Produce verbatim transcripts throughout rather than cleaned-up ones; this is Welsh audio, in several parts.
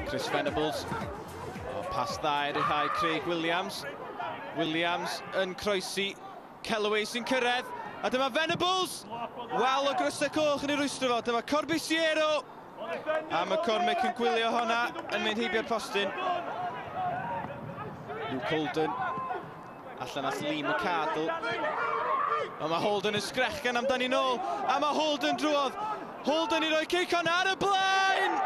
Chris Venables. O, pas dda i ryddhau Craig Williams. Williams yn croesi. Kellaway sy'n cyrraedd. A dyma Venables! Wal o grysau coch yn ei rwystro fo. Dyma Corbisiero. A McCormick yn gwylio honna yn mynd heibio'r postyn. Luke Holden. Allan at Lee McArdle. Ond mae Holden yn sgrechian amdani nôl. A mae Holden drwodd. Holden i roi cic honna ar y blaen!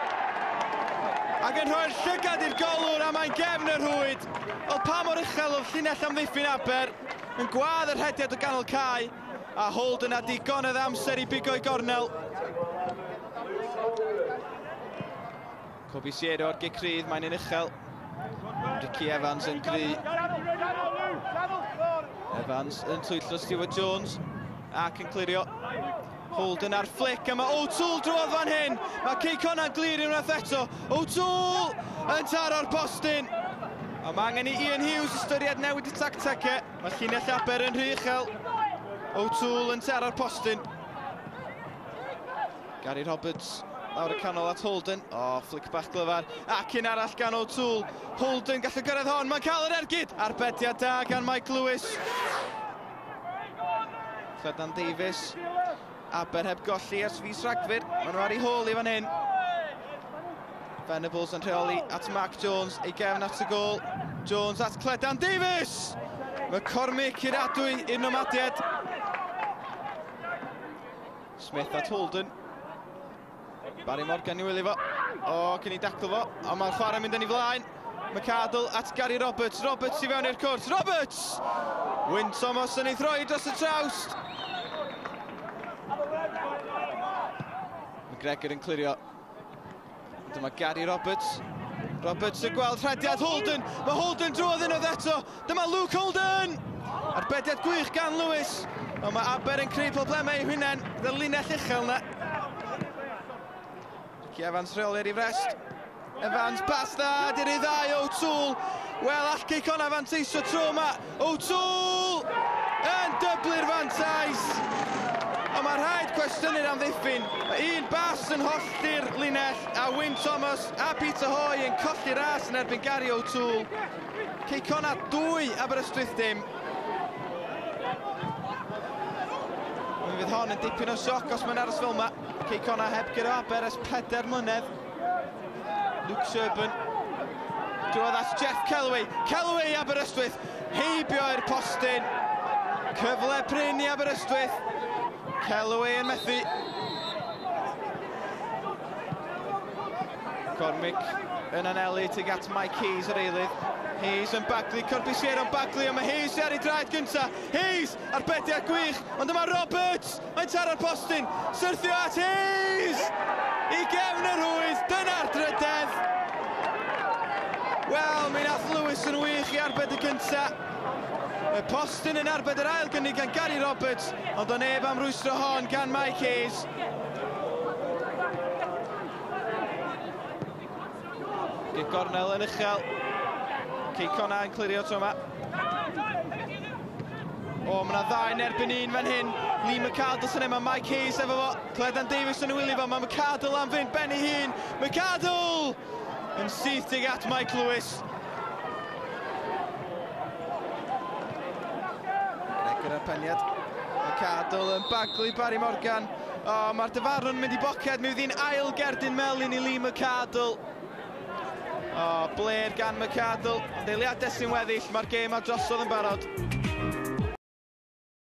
Ac yn rhoi'r llygad i'r golwr a mae'n gefn y rhwyd. Wel, pa mor uchel oedd llinell amddiffyn Aber yn gwadd yr rhediad o ganol cae. A Holden a digonedd amser i bigo'i gornel. Corbisiero ar gic rydd, mae'n un uchel. Ricky Evans yn gry. Evans yn twyllo Stuart Jones ac yn clirio. Holden ar flick a mae O'Toole drwodd fan hyn. Mae Cei Connah'n glir unwaith eto. O'Toole yn taro'r postyn. A mae angen i Ian Hughes ystyried newid y tactegau. Mae llinell Aber yn rhy uchel. O'Toole yn taro'r postyn. Gary Roberts lawr y canol at Holden. O, oh, flick bach glyfar. Ac un arall gan O'Toole. Holden gallu gyrraedd hon. Mae'n cael yr ergyd. Arbediad da gan Mike Lewis. Cledan Davies. Aber heb golli ers fis Rhagfyr. Maen nhw ar ei hôl i fan hyn. Venables yn rheoli at Mark Jones. Ei gefn at y gôl. Jones at Cledan Davies! McCormick i'r adwy i'r Nomadiaid. Smith at Holden. Barry Morgan i wylio fo. O, cyn i daclo fo. Ond mae'r chwarae mynd yn ei flaen. McArdle at Gary Roberts. Roberts i fewn i'r cwrt. Roberts! Wyn Thomas yn ei throi dros y trawst. McGregor yn clirio. Dyma Gary Roberts. Roberts yn gweld rhediad Holden. Mae Holden drwodd unwaith eto. Dyma Luke Holden! Arbediad gwych gan Lewis. Ond mae Aber yn creu problemau i'w hunain. Gyda'r linell uchel yna. Ricky Evans rheoli ar ei frest. Evans, pas dda, di'r ei ddau, O'Toole. Wel, all Cei Connah fanteisio tro yma. O'Toole yn dyblu'r fantais. Ond mae rhaid cwestiynu'r amddiffyn. Mae un bas yn hollti'r linell a Wyn Thomas a Peter Hoy yn colli'r ras yn erbyn Gary O'Toole. Cei Connah dwy, Aberystwyth dim. Mi fydd hon yn dipyn o sioc os mae'n aros fel yma. Cei Connah heb guro Aber ers pedair mlynedd. Luke Sherburn drwodd at Jeff Kellaway. Kellaway i Aberystwyth, heibio i'r postyn. Cyfle prin i Aberystwyth. Kellaway yn methu. McCormick yn anelu tuag at Mike Hayes yr eilydd. Hayes yn baglu, Corbisiero yn baglu, ond mae Hayes ar ei draed gynta. Hayes arbediad gwych, ond dyma Roberts, mae'n taro'r postyn, syrthio at Hayes! I gefn y rhwyd, dyna'r drydedd. Wel, mi nath Lewis yn wych i arbed y gynta. Y postyn yn arbed yr ail gynnig gan Gary Roberts, ond o neb am rwystro hon gan Mike Hayes. Gic gornel yn uchel. Cei Connah yn clirio tro yma. O, mae yna ddau yn erbyn un fan hyn. Lee McArdle sy'n yma, Mike Hayes efo fo. Cledan Davies yn wylio fo, mae McArdle am fynd ben ei hun. McArdle! Yn syth tuag at Mike Lewis. Gregor ar peniad. McArdle yn baglu Barry Morgan. O, mae'r dyfarnwr yn mynd i boced. Mi fydd hi'n ail gerdyn melyn i Lee McArdle. O, bler gan McArdle. Ond eiliadau sy'n weddill, mae'r gêm ar drosodd yn barod.